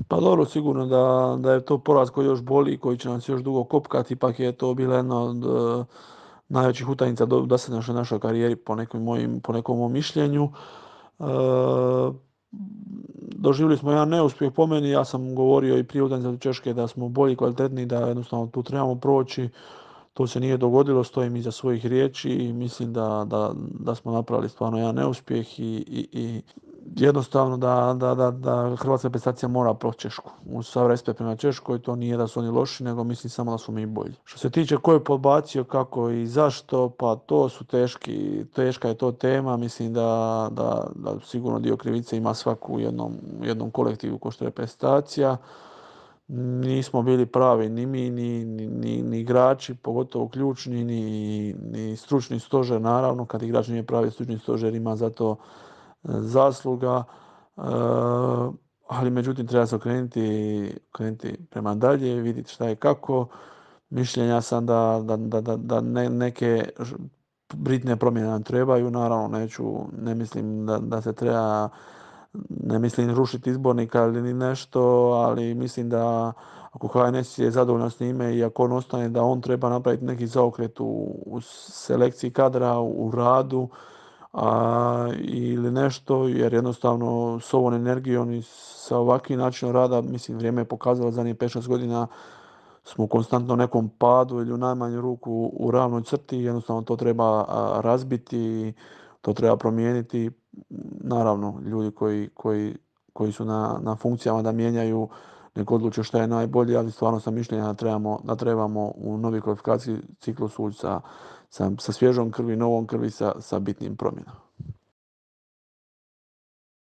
Pa dobro, sigurno da je to poraz koji još boli, koji će nas još dugo kopkati, ipak je to bila jedna od najvećih utakmica do sad našoj karijeri po nekom mom mišljenju. E, Doživjeli smo jedan neuspjeh po meni, ja sam govorio i prije utakmice od Češke da smo bolji, kvalitetniji, da jednostavno tu trebamo proći. To se nije dogodilo, stojim iza svojih riječi i mislim da smo napravili stvarno jedan neuspjeh i jednostavno da hrvatska reprezentacija mora proći Češku. Uz sav respekt prema Češkoj, to nije da su oni loši, nego mislim samo da smo mi bolji. Što se tiče ko je podbacio, kako i zašto, pa to su teška je to tema. Mislim da sigurno dio krivice ima svaku u jednom kolektivu ko što je reprezentacija. Nismo bili pravi ni mi, ni igrači, pogotovo ključni, ni stručni stožer, naravno. Kad igrač nije pravi, stručni stožer ima za to zasluga. E, ali međutim treba se okrenuti prema dalje, vidjeti šta je kako. Mišljenja sam da neke bitne promjene nam trebaju, naravno ne mislim da se treba, ne mislim rušiti izbornika ili ni nešto, ali mislim da ako HNS je zadovoljan s njime i ako on ostane, da on treba napraviti neki zaokret u selekciji kadra, u radu, ili nešto, jer jednostavno s ovom energijom i sa ovakvim načinom rada, mislim, vrijeme je pokazalo zadnjih 5-6 godina smo u konstantno nekom padu ili u najmanju ruku u ravnoj crti, jednostavno to treba razbiti, to treba promijeniti. Naravno, ljudi koji su na funkcijama da mijenjaju, nek odluče šta je najbolje, ali stvarno sam mišljenja da trebamo u novi kvalifikacijski ciklus ući sa svježom krvi, novom krvi, sa bitnim promjenama.